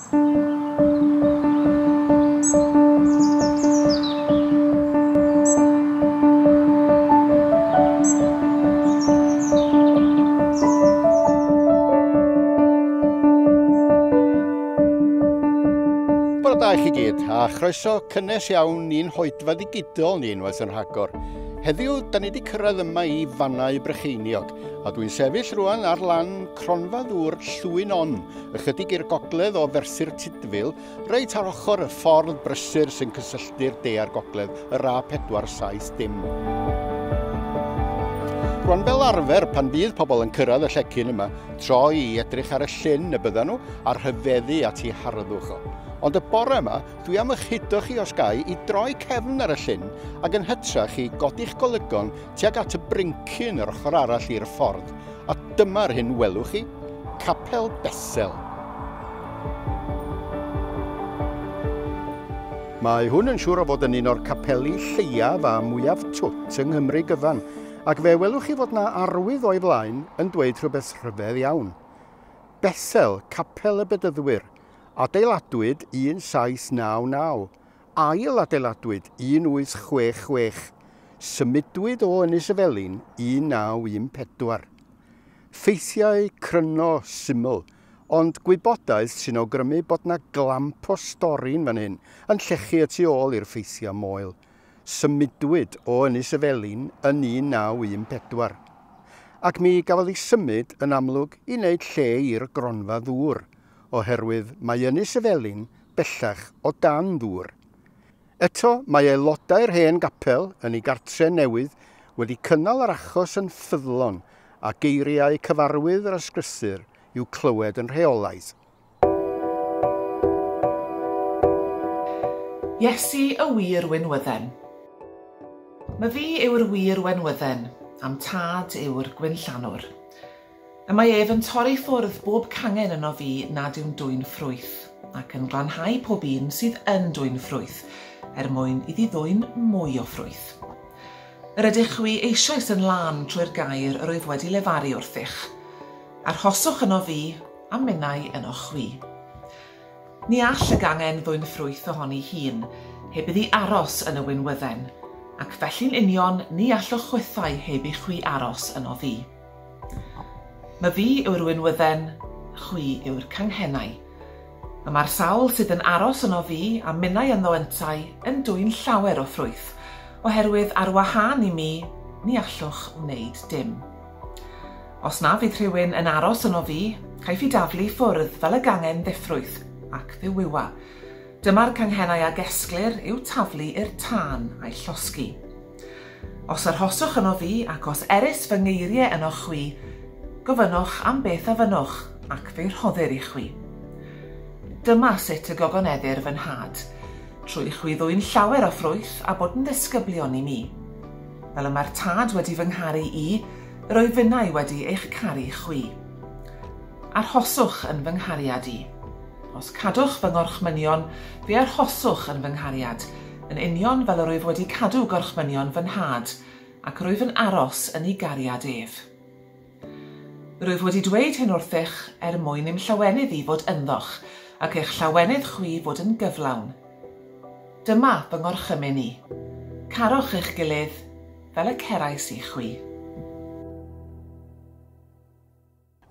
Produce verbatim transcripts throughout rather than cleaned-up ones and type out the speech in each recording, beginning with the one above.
Bore da i chi gyd, a chroeso cynnes iawn i'n hoedfa ddigidol ni unwaith yn rhagor. Heddiw, da ni wedi cyrraedd yma i Fannau Brycheiniog, a dwi'n sefyll rwan ar lan cronfa ddŵr Llwyn On, ychydig i'r gogledd o Ferthyr Tudful, reit ar ochr y ffordd brysur sy'n cysylltu'r de a'r gogledd, yr A pedwar saith dim. Rwan fel arfer, pan fydd pobl yn cyrraedd y llecyn yma, troi i edrych ar y llyn y byddan nhw a rhyfeddu at ei harddwch o. Ond y bore yma, dwi am eich hudo chi os gai i droi cefn ar y llyn ac yn hytrach i godi'ch golygon tuag at y brincyn yr ochr arall i'r ffordd. A dyma'r hyn welwch chi, Capel Bethel. Mae hwn yn siŵr o fod yn un o'r capeli lleiaf a mwyaf twt yng Nghymru gyfan, ac fe welwch chi fod na arwydd o'i flaen yn dweud rhywbeth rhyfedd iawn. Bethel, Capel y Bedyddwyr. Adeiladwyd un saith naw naw, ail adeiladwyd un wyth chwech chwech, symudwyd o Ynys y Felin un naw un pedwar. Ffeithiau cryno syml, ond gwybodaeth sy'n awgrymu bod na glamp o stori'n fan hyn, yn llechu y tu ôl i'r ffeithiau moel. Symudwyd o Ynys y Felin yn un naw un pedwar. Ac mi gafodd ei symud yn amlwg i wneud lle i'r gronfa ddŵr, oherwydd mae Ynys y Felin bellach o dan ddŵr. Eto, mae aelodau'r hen gapel yn ei gartre newydd wedi cynnal yr achos yn ffyddlon a geiriau cyfarwydd yr ysgrythur i'w clywed yn rheolaidd. Iesu y wir winwydden. Myfi yw'r wir wenwydden, a'm tad yw'r gwynllanwr. Y mae ef yn torri ffwrdd bob cangen yno fi nad yw'n dwyn ffrwyth, ac yn glanhau pob un sydd yn dwyn ffrwyth, er mwyn iddi ddwyn mwy o ffrwyth. Yr ydych chwi eisoes yn lân trwy'r gair yr oedd wedi lefaru wrthych. Arhoswch yno fi, a minnau yno chwi. Ni all y gangen ddwyn ffrwyth ohoni hun, heb iddi aros yn y winwydden, ac felly'n union ni allwch chwythau heb i chwi aros yno fi. Myfi yw'r winwydden, chwi yw'r canghennau. Y mae'r sawl sydd yn aros yno fi a minnau ynddo yntau yn dwyn llawer o ffrwyth, oherwydd ar wahân i mi, ni allwch wneud dim. Os na fydd rhywun yn aros yno fi, caiff ei daflu ffwrdd fel y gangen ddiffrwyth ac ddiwywa. Dyma'r canghennau a gesglir i'w taflu i'r tân a'i llosgi. Os arhoswch yno fi ac os erys fy ngeiriau yno chwi, gofynnwch am beth a fynnwch ac fe'i rhoddir i chwi. Dyma sut y gogoneddir fy nhad, trwy chwi ddwyn llawer o ffrwyth a bod yn ddisgyblion i mi. Fel y mae'r tad wedi fy ngharu i, yr oedd finnau wedi eich caru chwi. Arhoswch yn fy nghariad i. Os cadwch fy ngorchmynion, fe arhoswch yn fy nghariad, yn union fel yr wyf wedi cadw gorchmynion fy nhad, ac rwyf yn aros yn ei gariad ef. Rwyf wedi dweud hyn wrthych er mwyn i'm llawenydd i fod ynddoch, ac eich llawenydd chwi fod yn gyflawn. Dyma fy ngorchymyn i. Carwch eich gilydd fel y cerais i chwi.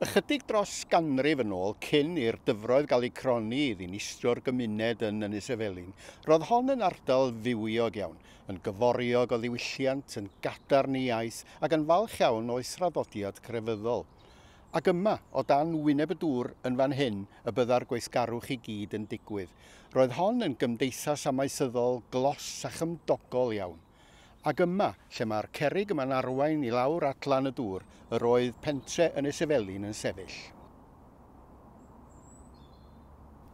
Ychydig dros ganrif yn ôl, cyn i'r dyfroedd gael eu cronni i ddinistrio'r gymuned yn Ynys y Felin, roedd hon yn ardal fywiog iawn, yn gyforiog o ddiwylliant, yn gadarn ei iaith ac yn falch iawn o'i thraddodiad crefyddol. Ac yma, o dan wyneb y dŵr yn fan hyn, y bydda'r gweithgarwch i gyd yn digwydd. Roedd hon yn gymdeithas amaethyddol glos a chymdogol iawn. Ac yma, lle mae'r cerrig yma'n arwain i lawr at lan y dŵr, yr oedd pentre Ynys y Felin yn sefyll.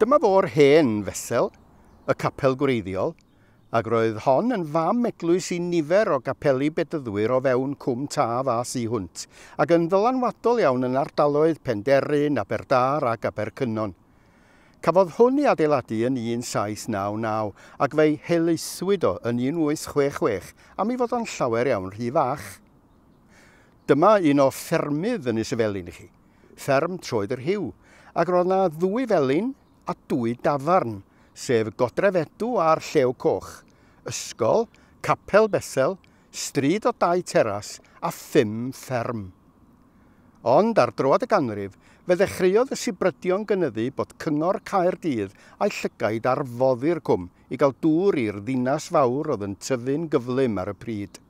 Dyma fo'r hen Fethel, y capel gwreiddiol, ac roedd hon yn fam eglwys i nifer o gapeli bedyddwyr o fewn Cwm Taf a thu hwnt, ac yn ddylanwadol iawn yn ardaloedd Penderyn, Aberdâr ac Abercynon. Cafodd hwn ei adeiladu yn un saith naw naw ac fe'i helaethwyd o yn un wyth chwech chwech am ei fod o'n llawer iawn rhy fach. Dyma un o ffermydd Ynys y Felin i chi, fferm Troed yr Rhiw, ac roedd na ddwy felin a dwy dafarn, sef Godrefedw a'r Llew Coch, ysgol, Capel Bethel, stryd o dau teras a phum fferm. Ond ar droad y ganrif, fe ddechreuodd y sibrydion gynyddu bod Cyngor Caerdydd a'i llygaid ar foddi'r cwm i gael dŵr i'r ddinas fawr oedd yn tyfu'n gyflym ar y pryd.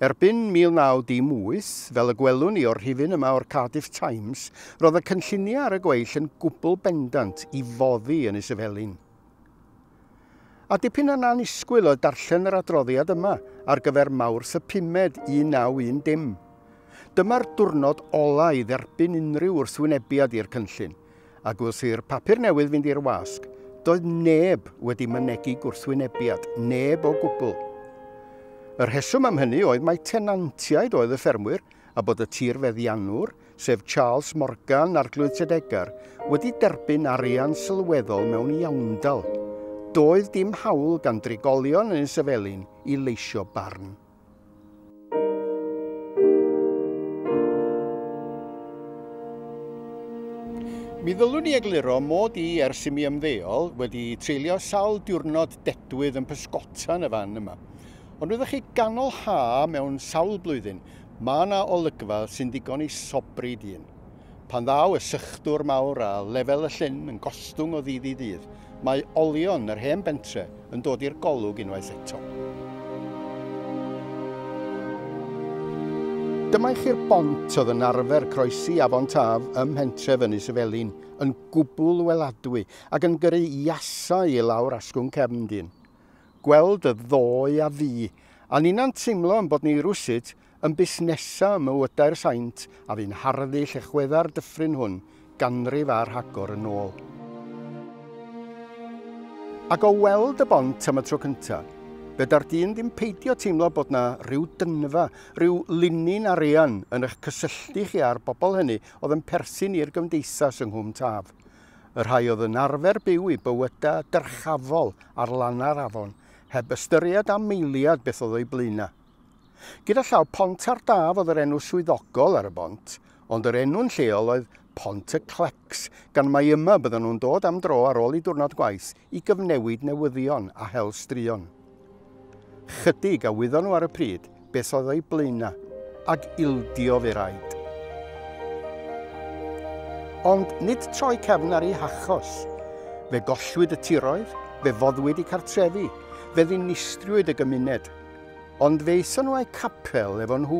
Erbyn mil naw dim wyth, fel y gwelwn ni o'r rhifyn yma o'r Cardiff Times, roedd y cynlluniau ar y gweill yn gwbl bendant i foddi Ynys y Felin. A dipyn yn annisgwyl oedd darllen yr adroddiad yma ar gyfer Mawrth y pumed un naw un dim. Dyma'r diwrnod ola i dderbyn unrhyw wrthwynebiad i'r cynllun, ac wrth i'r papur newydd fynd i'r wasg, doedd neb wedi mynegi gwrthwynebiad, neb o gwbl. Y rheswm am hynny oedd mai tenantiaid oedd y ffermwyr a bod y tirfeddiannwr, sef Charles Morgan Arglwydd Tredegar, wedi derbyn arian sylweddol mewn iawndal. Doedd dim hawl gan drigolion Ynys y Felin i leisio barn. Mi ddylwn i egluro mod i ers i mi ymddeol wedi treulio sawl diwrnod dedwydd yn pysgota yn y fan yma. Ond wyddoch chi, ganol ha mewn sawl blwyddyn, mae yna olygfa sy'n ddigon i sobri dyn. Pan ddaw y sychdwr mawr a lefel y llyn yn gostwng o ddydd i ddydd, mae olion yr hen bentre yn dod i'r golwg unwaith eto. Dyma i chi'r bont oedd yn arfer croesi Afon Taf ym mhentref Ynys y Felin, yn gwbl weladwy ac yn gyrru iasau i lawr asgwrn cefn dyn. Gweld y ddoe a fi, a ninna'n teimlo yn bod ni rywsut yn busnesa ym mywydau'r saint a fu'n harddu llechwedda'r dyffryn hwn ganrif a'r rhagor yn ôl. Ac o weld y bont am y tro cyntaf, feda'r dyn ddim peidio teimlo bod na rhyw dynfa, rhyw linyn arian yn eich cysylltu chi â'r bobl hynny oedd yn perthyn i'r gymdeithas yng Nghwm Taf. Y rhai oedd yn arfer byw i bywydau dyrchafol ar lanau'r afon, heb ystyried am eiliad beth oedd o'i blaenau. Gyda llaw, Pont ar Daf oedd yr enw swyddogol ar y bont, ond yr enw'n lleol oedd Pont y Clecs, gan mai yma bydden nhw'n dod am dro ar ôl i diwrnod gwaith i gyfnewid newyddion a hel straeon. Chydig a wyddon nhw ar y pryd beth oedd o'i blaenau, ac ildio fe raid. Ond nid troi cefn ar ei hachos. Fe gollwyd y tiroedd, fe foddwyd eu cartrefi, fe ddinistriwyd y gymuned. Ond fe aethon nhw a'u capel efo nhw,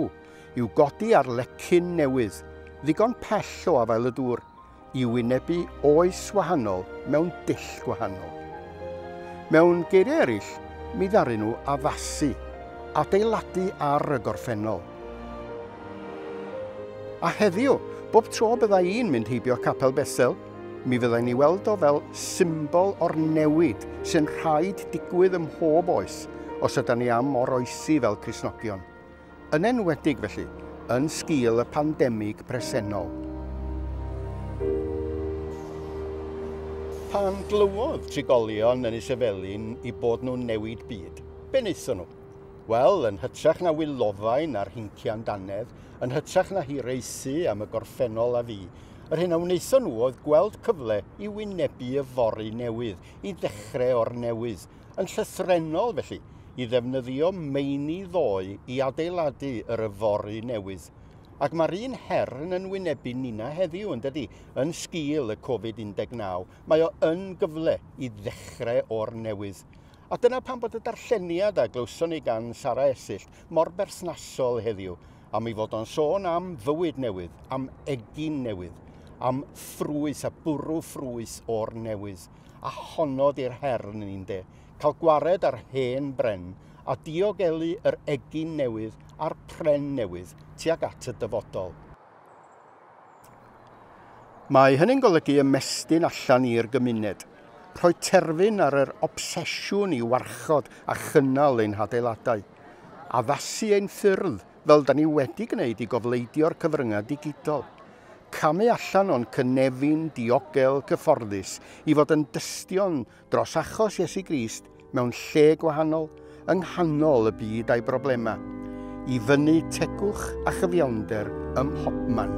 i'w godi ar lecyn newydd, ddigon pell o afael y dŵr, i wynebu oes wahanol mewn dull gwahanol. Mewn geiriau eraill, mi ddaru nhw addasu, adeiladu ar y gorffennol. A heddiw, bob tro bydda i'n mynd heibio Capel Bethel, mi fyddai'n ei weld o fel symbol o'r newid sy'n rhaid digwydd ym mhob oes os ydyn ni am oroesi fel Cristnogion. Yn enwedig felly, yn sgil y pandemig presennol. Pan glywodd trigolion Ynys y Felin i bod nhw'n newid byd, be wnaethon nhw? Wel, yn hytrach na wylofain a'r hincian dannedd, yn hytrach na hiraethu am y gorffennol a fi, yr hyn a wnaethon nhw oedd gweld cyfle i wynebu yfory newydd, i ddechrau o'r newydd, yn llythrennol felly, i ddefnyddio meini ddoe i adeiladu yr yfory newydd. Ac mae'r un her yn wynebu nina heddiw, yn dydi, yn sgil y Covid un deg naw. Mae o yn gyfle i ddechrau o'r newydd. A dyna pam bod y darlleniad a glywson ni gan Sara Esyllt mor berthnasol heddiw, am ei fod o'n sôn am fywyd newydd, am egin newydd, am ffrwyth a bwrw ffrwyth o'r newydd. A honno di'r her yn un de, cael gwared ar hen bren a diogelu yr egin newydd a'r pren newydd tuag at y dyfodol. Mae hynny'n golygu ymestyn allan i'r gymuned, rhoi terfyn ar yr obsesiwn i warchod a chynnal ein hadeiladau, addasu ein ffyrdd fel da ni wedi gwneud i gofleidio'r cyfryngau digidol, camu allan o'n cynefin diogel cyfforddus i fod yn dystion dros achos Iesu Grist mewn lle gwahanol yng nghanol y byd a'i broblemau, i fyny tegwch a chyfiawnder ym mhobman.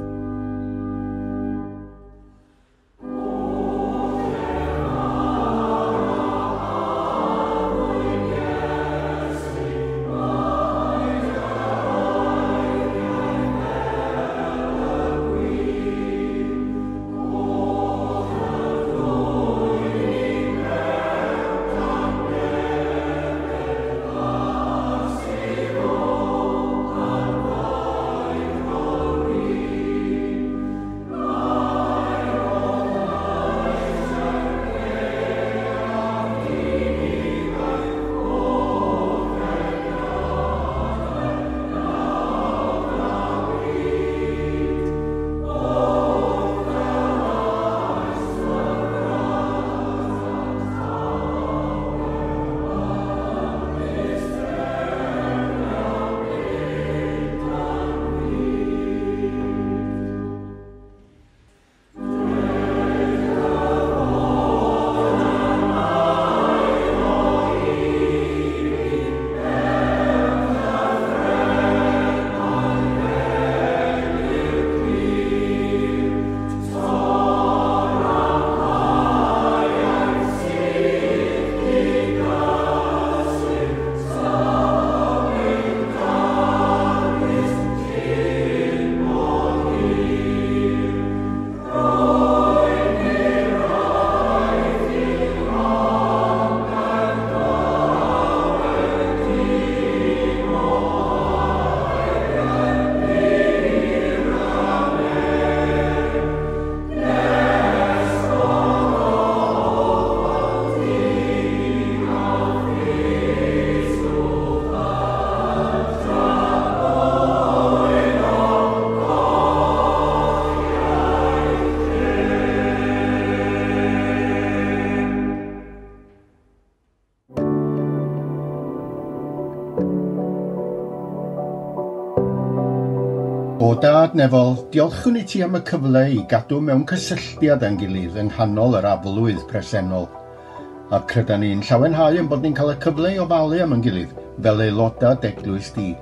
O Dad nefol, diolchwn i ti am y cyfle i gadw mewn cysylltiad â'n gilydd yng nghanol yr aflwydd presennol. A credan ni'n llawenhau yn bod ni'n cael y cyfle i ofalu am ein gilydd fel aelodau d'eglwys di.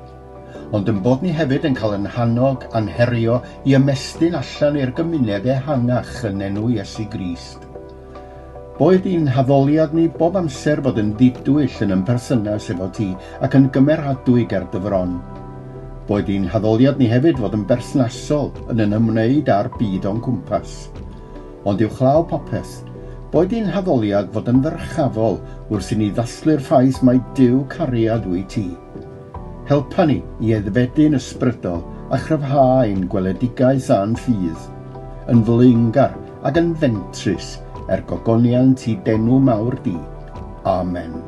Ond yn bod ni hefyd yn cael yn hannog a'n herio i ymestyn allan i'r gymuned ehangach yn enw Iesu Grist. Boed i'n haddoliad ni bob amser fod yn ddidwyll yn ymperthynas efo ti ac yn gymeradwy ger dy fron. Boed i'n haddoliad ni hefyd fod yn berthnasol yn yn ymwneud â'r byd o'n cwmpas. Ond uwchlaw popeth, boed i'n haddoliad fod yn ddyrchafol wrth i ni ddathlu'r ffaith mai Duw cariad wyt ti. Helpa ni i aeddfedu'n ysbrydol a chryfhau ein gweledigaeth a'n ffydd, yn flaengar ac yn fentrus er gogoniant i d'enw mawr di. Amen.